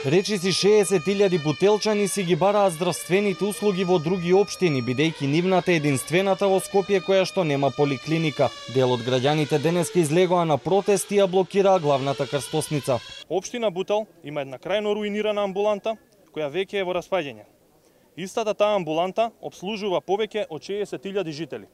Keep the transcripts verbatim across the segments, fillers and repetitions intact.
Речиси шеесет илјади бутелчани си ги бараат здравствените услуги во други општини, бидејќи нивната е единствената во Скопје која што нема поликлиника. Дел од граѓаните денеска излегоа на протест и ја блокираа главната крстосница. Општина Бутел има една крајно руинирана амбуланта која веќе е во распаѓање. Истата таа амбуланта обслужува повеќе од шеесет илјади жители.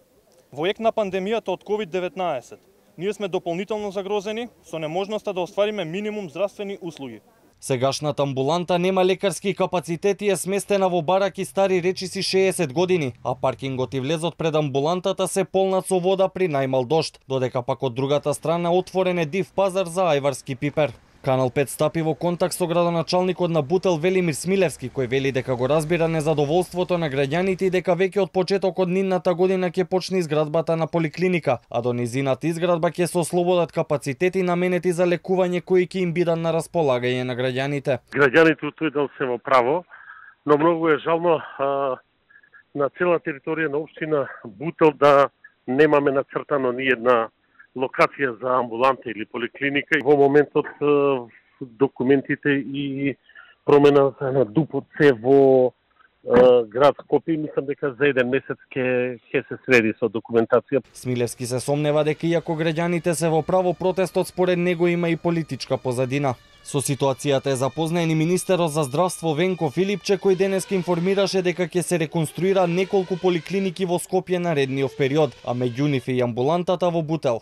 Во ек на пандемијата од ковид деветнаесет, ние сме дополнително загрозени со неможноста да оствариме минимум здравствени услуги. Сегашната амбуланта нема лекарски капацитет и е сместена во бараки стари речиси шеесет години, а паркингот и влезот пред амбулантата се полнат со вода при најмал дожд, додека пак од другата страна отворен е див пазар за ајварски пипер. Канал пет стапи во контакт со градоначалникот на Бутел Велимир Смилевски, кој вели дека го разбира незадоволството на граѓаните и дека веќе од почетокот нидната година ќе почне изградбата на поликлиника, а до низината изградба ќе се ослободат капацитети наменети за лекување кои ќе им бидат на располагање на граѓаните. Граѓаните од тој дел се во право, но многу е жално а, на цела територија на општина Бутел да немаме нацртано ни една локација за амбуланта или поликлиника. Во моментот документите и промена на ДУП-от се во град Скопје, мислам дека за еден месец ќе ќе се среди со документација. Смилевски се сомнева дека иако граѓаните се во право, протестот според него има и политичка позадина. Со ситуацијата е запознаен и министерот за здравство Венко Филипче, кој денеска информираше дека ќе се реконструира неколку поликлиники во Скопје наредниот период, а меѓу нив и амбулантата во Бутел.